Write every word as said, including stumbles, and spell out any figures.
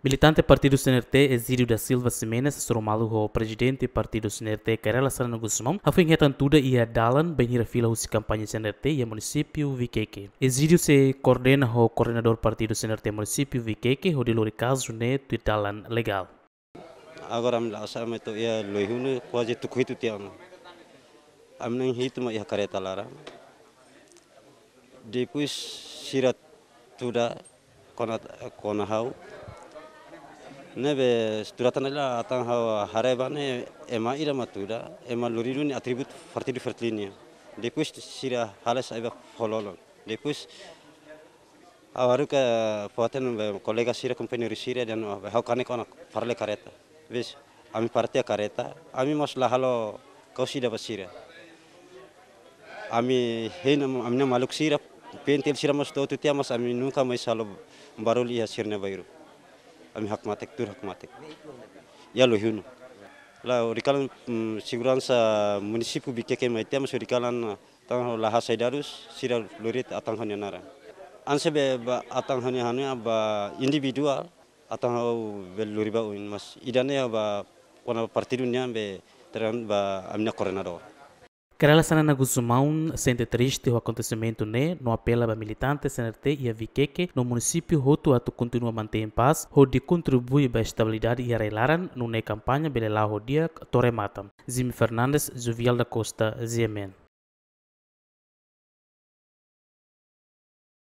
Militante partidu C N R T, Ezídio da Silva Ximenes, hasoru malu ho prezidente partidu C N R T, Kay Rala Xanana Gusmão, hafoin hetan tuda iha dalan bainhira fila husi kampaña C N R T iha munisípiu Viqueque. Ezídio sei koordena ho koordenadór partidu C N R T munisípiu Viqueque hodi lori kazu ne'e tuir dalan legál. Agora ami la asa mai to'o iha Loihunu kuaze tuku hitu tiha ona. Ami na'in hitu mak iha kareta laran. Depois sira tuda kona, kona ha'u. Ne'ebé tuda tan ne'e la atan ha'u haree ba ne'e ema ida mak tuda, ema lori duni atributu partidu Fretilin nian. Depois sira halo sai ba fololon. Depois ha'u haruka foten be kolega sira, kompañeiru sira dehan, "Oh, be ha'u kanek ona fali kareta." Bes, ami parte kareta, ami mós la halo kau sida ba sira. Ami hein, ami-nia maluk sira, pentil sira mós to'o tiha, mas ami nunka mais halo barullu iha sira-nia bairru. Ami hakmatek, tuur hakmatek. Iha Loihunu. La, hori kalan, mm, seguransa munisípiu Viqueque mai tiha, mas hori kalan, ah, tan la hasai dadus, sira lori atan ha'u-nia naran. Hanesan be ba atan ha'u-nia, ha'u-nia ba individuál, atan ha'u be lori ba oin, mas ida-ne'e ba kona partidu nian be terang ba ami-nia koordenadór. Kay Rala Xanana Gusmão sente triste ho akontesimentu ne'e, no apela ba militante C N R T iha Viqueque no munisípiu hotu atu kontinua mantein pás, hodi kontribui ba estabilidade iha rai-laran, nune'e kampaña bele la'o ho di'ak to'o remata. Jimmy Fernandes, Jovial da Costa, G M N.